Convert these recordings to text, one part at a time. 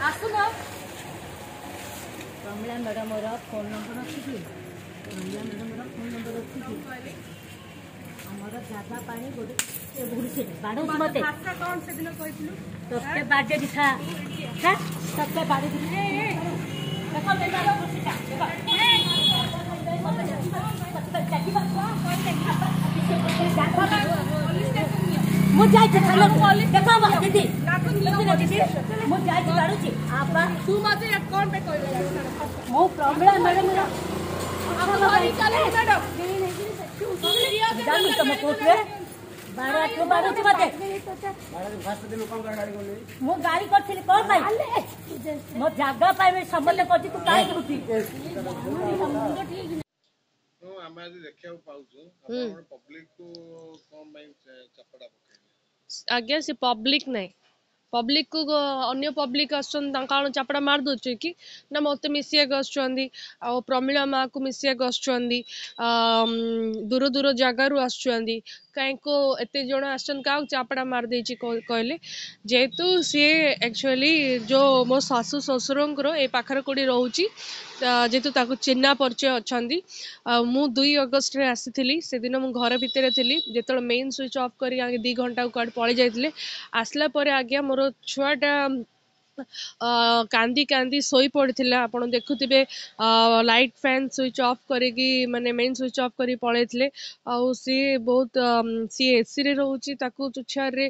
ଆସୁନ। Pramila ମ୍ୟାଡ଼ାମର phone number ଅଛି କି? ପ୍ରମିଳା ମ୍ୟାଡ଼ାମର ଫୋନ୍ ନମ୍ବର ଅଛି କି? ଆମର ଜାଗା ପାଇଁ ଗୋଟେ ବାଡ଼ଉଛି ମତେ। କଣ ସେଦିନ କହିଥିଲୁ? ତତେ ବାଡ଼େଇ ଦିଥା, ତତେ ବାଡ଼େଇ। ଦେଖ, ଦେଖ। ମୁଁ ଯାଇଛି, ଦେଖ ଦିଦି, ଦିଦି, ମୁଁ ଯାଇଛି, ବାଡ଼ୁଛି ଆପା। ତୁ ମତେ କଣ ପାଇଁ କହିଲୁ? ମୁଁ ପ୍ରମିଳା ମ୍ୟାଡ଼ାମର ଜାଣୁ ତମ କୋର୍ଟରେ 12 ବାଡ଼ୁଛି ମତେ। ମୁଁ ଗାଳି କରିଥିଲି କଣ ପାଇଁ? ମୋ ଜାଗା ପାଇଁ ସମସ୍ତେ କରିଛି। ତୁ କାହିଁକି ଉଠି? ଆମେ ଆଜି ଦେଖିବାକୁ ପାଉଛୁ ଆପଣ ପବ୍ଲିକକୁ କଣ ପାଇଁ ଚାପଟା ପକେଇଲେ? ଆଜ୍ଞା, ସେ ପବ୍ଲିକ ନାହିଁ। ପବ୍ଲିକକୁ ଅନ୍ୟ ପବ୍ଲିକ ଆସୁଛନ୍ତି, ତାଙ୍କ କ'ଣ ଚାପଡ଼ା ମାରି ଦେଉଛି କି ନା? ମୋତେ ମିଶିବାକୁ ଆସୁଛନ୍ତି ଆଉ ପ୍ରମିଳା ମାଆକୁ ମିଶିବାକୁ ଆସୁଛନ୍ତି, ଦୂର ଦୂର ଜାଗାରୁ ଆସୁଛନ୍ତି। କାହିଁକି ଏତେ ଜଣ ଆସୁଛନ୍ତି? କାହାକୁ ଚାପଡ଼ା ମାରିଦେଇଛି କହିଲେ? ଯେହେତୁ ସିଏ ଆକ୍ଚୁଆଲି ଯେଉଁ ମୋ ଶାଶୁ ଶ୍ୱଶୁରଙ୍କର ଏ ପାଖରେ କେଉଁଠି ରହୁଛି, ଯେହେତୁ ତାକୁ ଚିହ୍ନା ପରିଚୟ ଅଛନ୍ତି। ଆଉ ମୁଁ 2 ଅଗଷ୍ଟରେ ଆସିଥିଲି। ସେଦିନ ମୁଁ ଘର ଭିତରେ ଥିଲି ଯେତେବେଳେ ମେନ୍ ସୁଇଚ୍ ଅଫ୍ କରି ଆଗେ 2 ଘଣ୍ଟା କୁଆଡ଼େ ପଳେଇ ଯାଇଥିଲେ। ଆସିଲା ପରେ ଆଜ୍ଞା ମୋର ଛୁଆଟା କାନ୍ଦି କାନ୍ଦି ଶୋଇ ପଡ଼ିଥିଲା। ଆପଣ ଦେଖୁଥିବେ, ଲାଇଟ୍ ଫ୍ୟାନ୍ ସୁଇଚ୍ ଅଫ୍ କରିକି, ମାନେ ମେନ୍ ସୁଇଚ୍ ଅଫ୍ କରିକି ପଳେଇଥିଲେ। ଆଉ ସିଏ ବହୁତ, ସିଏ ଏସିରେ ରହୁଛି, ତାକୁ ତୁଛାରେ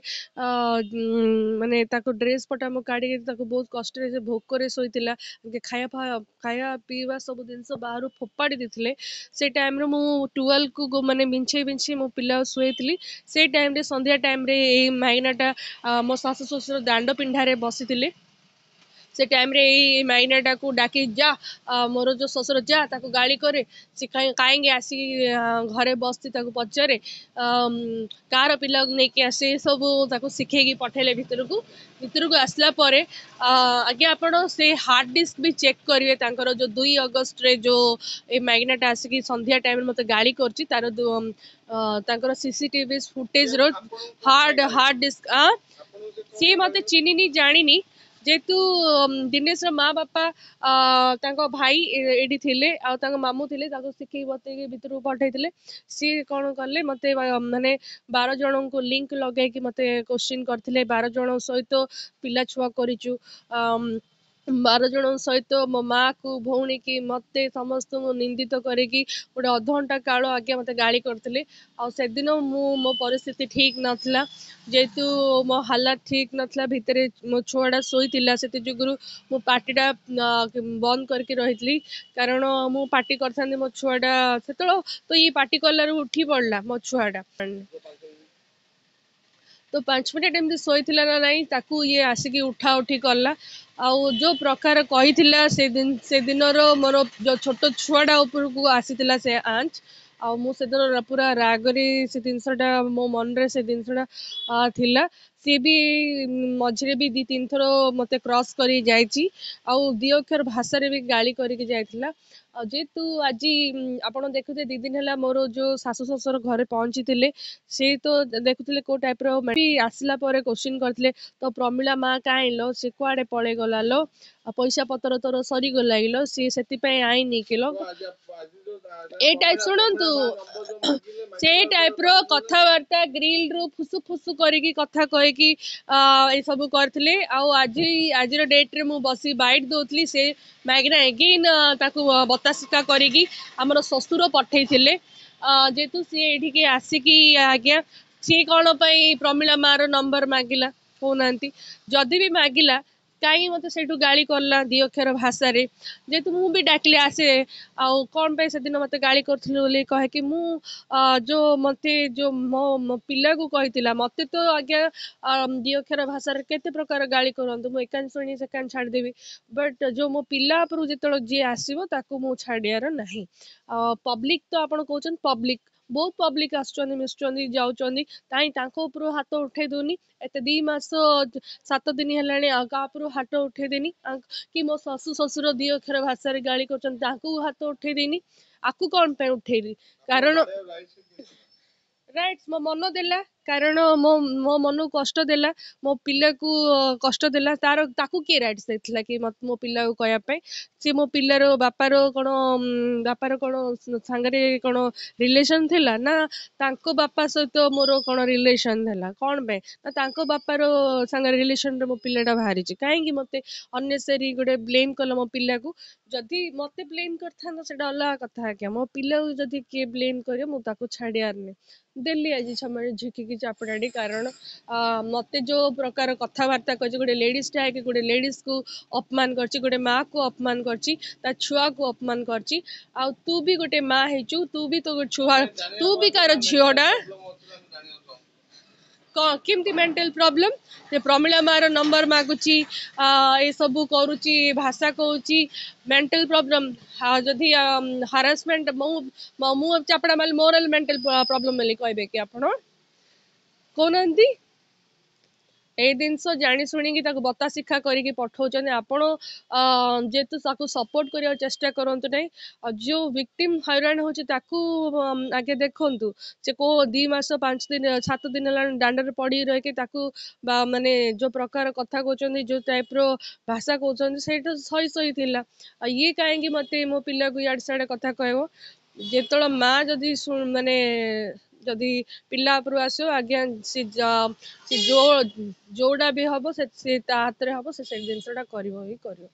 ମାନେ ତାକୁ ଡ୍ରେସ୍ ପଟା ମୁଁ କାଢ଼ିକି ତାକୁ ବହୁତ କଷ୍ଟରେ, ସେ ଭୋକରେ ଶୋଇଥିଲା, ଖାଇବା ପିଇବା ସବୁ ଜିନିଷ ବାହାରୁ ଫୋପାଡ଼ି ଦେଇଥିଲେ। ସେ ଟାଇମ୍ରେ ମୁଁ ଟୁଏଲ୍ଭକୁ ମାନେ ବିଞ୍ଛେଇ ବିଞ୍ଛେଇ ମୋ ପିଲାକୁ ଶୁଏଇଥିଲି। ସେଇ ଟାଇମ୍ରେ ସନ୍ଧ୍ୟା ଟାଇମ୍ରେ ଏଇ ମାଇନାଟା, ମୋ ଶାଶୁ ଶ୍ୱଶୁର ଦାଣ୍ଡ ପିଣ୍ଡାରେ ବସିଥିଲେ, ସେ ଟାଇମ୍ରେ ଏଇ ମାଇନାଟାକୁ ଡାକି, ଯା, ମୋର ଯେଉଁ ଶ୍ୱଶୁର, ଯା ତାକୁ ଗାଳି କରେ, ସେ କାହିଁକି ଆସିକି ଘରେ ବସିଛି, ତାକୁ ପଚାରେ କାହାର ପିଲାକୁ ନେଇକି ଆସେ, ସବୁ ତାକୁ ଶିଖେଇକି ପଠେଇଲେ ଭିତରକୁ। ଭିତରକୁ ଆସିଲା ପରେ ଆଜ୍ଞା ଆପଣ ସେ ହାର୍ଡ଼ ଡିସ୍କ ବି ଚେକ୍ କରିବେ। ତାଙ୍କର ଯେଉଁ 2 ଅଗଷ୍ଟରେ ଯେଉଁ ଏ ମାଇନାଟା ଆସିକି ସନ୍ଧ୍ୟା ଟାଇମ୍ରେ ମୋତେ ଗାଳି କରୁଛି, ତାର ତାଙ୍କର ସିସିଟିଭି ଫୁଟେଜର ହାର୍ଡ଼ ଡିସ୍କ। ସିଏ ମୋତେ ଚିହ୍ନିନି ଜାଣିନି। ଯେହେତୁ ଦିନେଶର ମା ବାପା, ତାଙ୍କ ଭାଇ ଏଇଠି ଥିଲେ ଆଉ ତାଙ୍କ ମାମୁଁ ଥିଲେ, ତାକୁ ଶିଖେଇ ବତେଇକି ଭିତରକୁ ପଠେଇଥିଲେ। ସିଏ କ'ଣ କଲେ, ମୋତେ ମାନେ 12 ଜଣଙ୍କୁ ଲିଙ୍କ ଲଗେଇକି ମୋତେ କୋଶ୍ଚିନ୍ କରିଥିଲେ। 12 ଜଣ ସହିତ ପିଲା ଛୁଆ କରିଛୁ, 12 ଜଣଙ୍କ ସହିତ ମୋ ମାଆକୁ, ଭଉଣୀକି, ମୋତେ ସମସ୍ତଙ୍କୁ ନିନ୍ଦିତ କରିକି ଗୋଟେ ଅଧଘଣ୍ଟା କାଳ ଆଜ୍ଞା ମୋତେ ଗାଳି କରିଥିଲେ। ଆଉ ସେଦିନ ମୁଁ ମୋ ପରିସ୍ଥିତି ଠିକ୍ ନଥିଲା, ଯେହେତୁ ମୋ ହାଲାତ ଠିକ୍ ନଥିଲା, ଭିତରେ ମୋ ଛୁଆଟା ଶୋଇଥିଲା, ସେଥି ଯୋଗୁରୁ ମୁଁ ପାଟିଟା ବନ୍ଦ କରିକି ରହିଥିଲି। କାରଣ ମୁଁ ପାଟି କରିଥାନ୍ତି, ମୋ ଛୁଆଟା ସେତେବେଳେ ତ ଇଏ ପାଟି କଲାରୁ ଉଠି ପଡ଼ିଲା ମୋ ଛୁଆଟା। ତ 5 ମିନିଟ୍ ଏମିତି ଶୋଇଥିଲା ନା ନାଇଁ, ତାକୁ ଇଏ ଆସିକି ଉଠା ଉଠି କଲା। ଆଉ ଯେଉଁ ପ୍ରକାର କହିଥିଲା ସେଦିନର ମୋର ଯେଉଁ ଛୋଟ ଛୁଆଟା ଉପରକୁ ଆସିଥିଲା ସେ ଆଞ୍ଚ, ଆଉ ମୁଁ ସେଦିନ ପୁରା ରାଗରେ ସେ ଜିନିଷଟା ମୋ ମନରେ ସେ ଜିନିଷଟା ଥିଲା। ସିଏ ବି ମଝିରେ ବି 2 3 ଥର ମୋତେ କ୍ରସ୍ କରି ଯାଇଛି ଆଉ 2 ଅକ୍ଷର ଭାଷାରେ ବି ଗାଳି କରିକି ଯାଇଥିଲା। ଆଉ ଯେହେତୁ ଆଜି ଆପଣ ଦେଖୁଥିବେ, 2 ଦିନ ହେଲା ମୋର ଯେଉଁ ଶାଶୁ ଶ୍ୱଶୁର ଘରେ ପହଞ୍ଚିଥିଲେ, ସେ ତ ଦେଖୁଥିଲେ କେଉଁ ଟାଇପ୍ର। ଆସିଲା ପରେ କୋଶ୍ଚିନ୍ କରିଥିଲେ, ତ ପ୍ରମିଳା ମା କାହିଁ ଲୋ? ସେ କୁଆଡ଼େ ପଳେଇଗଲା ଲୋ? ପଇସା ପତ୍ର ତୋର ସରିଗଲା କିଲୋ? ସିଏ ସେଥିପାଇଁ ଆଇନି କିଲୋ? ଏ ଟାଇପ୍, ଶୁଣନ୍ତୁ, ସେଇ ଟାଇପ୍ର କଥାବାର୍ତ୍ତା ଗ୍ରିଲରୁ ଫୁସୁ ଫୁସୁ କରିକି କଥା କହିକି ଏସବୁ କରିଥିଲେ। ଆଉ ଆଜି, ଆଜିର ଡେଟ୍ରେ ମୁଁ ବସି ବାଇଟ୍ ଦେଉଥିଲି, ସେ ମାଇକିନା ଏଗେନ୍ ତାକୁ ବତାସିକା କରିକି ଆମର ଶ୍ୱଶୁର ପଠେଇଥିଲେ। ଯେହେତୁ ସିଏ ଏଇଠିକି ଆସିକି ଆଜ୍ଞା ସିଏ କ'ଣ ପାଇଁ ପ୍ରମିଳା ମାର ନମ୍ବର ମାଗିଲା କହୁନାହାନ୍ତି? ଯଦି ବି ମାଗିଲା, କାହିଁକି ମୋତେ ସେଇଠୁ ଗାଳି କଲା 2 ଅକ୍ଷର ଭାଷାରେ? ଯେହେତୁ ମୁଁ ବି ଡାକିଲି ଆସେ, ଆଉ କ'ଣ ପାଇଁ ସେଦିନ ମୋତେ ଗାଳି କରୁଥିଲୁ ବୋଲି କହିକି ମୁଁ ଯେଉଁ ମୋତେ ଯେଉଁ ମୋ ପିଲାକୁ କହିଥିଲା। ମୋତେ ତ ଆଜ୍ଞା 2 ଅକ୍ଷର ଭାଷାରେ କେତେ ପ୍ରକାର ଗାଳି କରନ୍ତୁ, ମୁଁ ଏକାନି ଶୁଣି ସେକାନି ଛାଡ଼ିଦେବି, ବଟ୍ ଯେଉଁ ମୋ ପିଲା ଉପରକୁ ଯେତେବେଳେ ଯିଏ ଆସିବ ତାକୁ ମୁଁ ଛାଡ଼ିବାର ନାହିଁ। ପବ୍ଲିକ ତ ଆପଣ କହୁଛନ୍ତି, ପବ୍ଲିକ ବହୁତ ପବ୍ଲିକ ଆସୁଛନ୍ତି, ମିଶୁଛନ୍ତି, ଯାଉଛନ୍ତି, କାହିଁ ତାଙ୍କ ଉପରୁ ହାତ ଉଠେଇ ଦଉନି? ଏତେ 2 ମାସ 7 ଦିନ ହେଲାଣି, ଆଉ କାହା ଉପରୁ ହାତ ଉଠେଇ ଦେଇନି କି ମୋ ଶାଶୁ ଶ୍ୱଶୁର 2 ଅକ୍ଷର ଭାଷାରେ ଗାଳି କରୁଛନ୍ତି, ତାଙ୍କୁ ହାତ ଉଠେଇ ଦେଇନି, ଆକୁ କ'ଣ ପାଇଁ ଉଠେଇଲି? କାରଣ ରାଇଟ୍ସ ମୋ ମନ ଦେଲା। କାରଣ ମୋ ମନକୁ କଷ୍ଟ ଦେଲା, ମୋ ପିଲାକୁ କଷ୍ଟ ଦେଲା। ତାର ତାକୁ କିଏ ରାଇଟ୍ସ ଦେଇଥିଲା କି ମୋ ପିଲାକୁ କହିବା ପାଇଁ? ସେ ମୋ ପିଲାର ବାପାର କ'ଣ, ବାପାର କ'ଣ ସାଙ୍ଗରେ କ'ଣ ରିଲେସନ୍ ଥିଲା ନା ତାଙ୍କ ବାପା ସହିତ ମୋର କ'ଣ ରିଲେସନ୍ ଥିଲା? କ'ଣ ପାଇଁ ନା ତାଙ୍କ ବାପାର ସାଙ୍ଗରେ ରିଲେସନ୍ରେ ମୋ ପିଲାଟା ବାହାରିଛି? କାହିଁକି ମୋତେ ଅନନେସେସାରୀ ଗୋଟେ ବ୍ଲେମ୍ କଲା ମୋ ପିଲାକୁ? ଯଦି ମୋତେ ବ୍ଲେମ୍ କରିଥାନ୍ତା ସେଇଟା ଅଲଗା କଥା ଆଜ୍ଞା। ମୋ ପିଲାକୁ ଯଦି କିଏ ବ୍ଲେମ୍ କରିବ, ମୁଁ ତାକୁ ଛାଡ଼ିବାର ନାହିଁ। ଦେଲି ଆଜି ଛମାଣି ଝିକିକି ଚାପୁଡ଼ାଟି, କାରଣ ମୋତେ ଯେଉଁ ପ୍ରକାର କଥାବାର୍ତ୍ତା କରିଛି, ଗୋଟେ ଲେଡ଼ିଜ୍ଟା ହେଇକି ଗୋଟେ ଲେଡ଼ିଜ୍କୁ ଅପମାନ କରିଛି, ଗୋଟେ ମାଆକୁ ଅପମାନ କରିଛି, ତା ଛୁଆକୁ ଅପମାନ କରିଛି। ଆଉ ତୁ ବି ଗୋଟେ ମା ହେଇଛୁ, ତୁ ବି ତୋ ଛୁଆ, ତୁ ବି କାହାର ଝିଅଟା। କ'ଣ କେମିତି ମେଣ୍ଟାଲ ପ୍ରୋବ୍ଲେମ୍ ଯେ ପ୍ରମିଳା ମାର ନମ୍ବର ମାଗୁଛି, ଏସବୁ କରୁଛି, ଭାଷା କହୁଛି? ମେଣ୍ଟାଲ ପ୍ରୋବ୍ଲେମ୍ ଯଦି ହାରାସମେଣ୍ଟ, ମୁଁ ଚାପଡ଼ା ମାରିଲି, ମୋର ମେଣ୍ଟାଲ ପ୍ରୋବ୍ଲେମ୍ ବୋଲି କହିବେ କି ଆପଣ? କହୁନାହାନ୍ତି। ଏଇ ଜିନିଷ ଜାଣି ଶୁଣିକି ତାକୁ ବତା ଶିକ୍ଷା କରିକି ପଠଉଛନ୍ତି ଆପଣ। ଯେହେତୁ ତାକୁ ସପୋର୍ଟ କରିବାକୁ ଚେଷ୍ଟା କରନ୍ତୁ ନାହିଁ। ଆଉ ଯେଉଁ ଭିକ୍ଟିମ୍ ହଇରାଣ ହେଉଛି ତାକୁ ଆଗେ ଦେଖନ୍ତୁ। ସେ କୋଉ 2 ମାସ 5 ଦିନ 7 ଦିନ ହେଲାଣି ଦାଣ୍ଡରେ ପଡ଼ିକି ରହିକି ତାକୁ ବା ମାନେ ଯେଉଁ ପ୍ରକାର କଥା କହୁଛନ୍ତି, ଯେଉଁ ଟାଇପ୍ର ଭାଷା କହୁଛନ୍ତି, ସେଇଟା ସହି ସହି ଥିଲା। ଆଉ ଇଏ କାହିଁକି ମୋତେ ମୋ ପିଲାକୁ ଇଆଡ଼େ ସିଆଡ଼େ କଥା କହିବ? ଯେତେବେଳେ ମା ଯଦି ମାନେ ଯଦି ପିଲା ଉପରୁ ଆସିବ ଆଜ୍ଞା, ସେ ଯୋଉ ଯୋଉଟା ବି ହବ ସେ ତା ହାତରେ ହବ, ସେ ସେଇ ଜିନିଷଟା କରିବ ହିଁ କରିବ।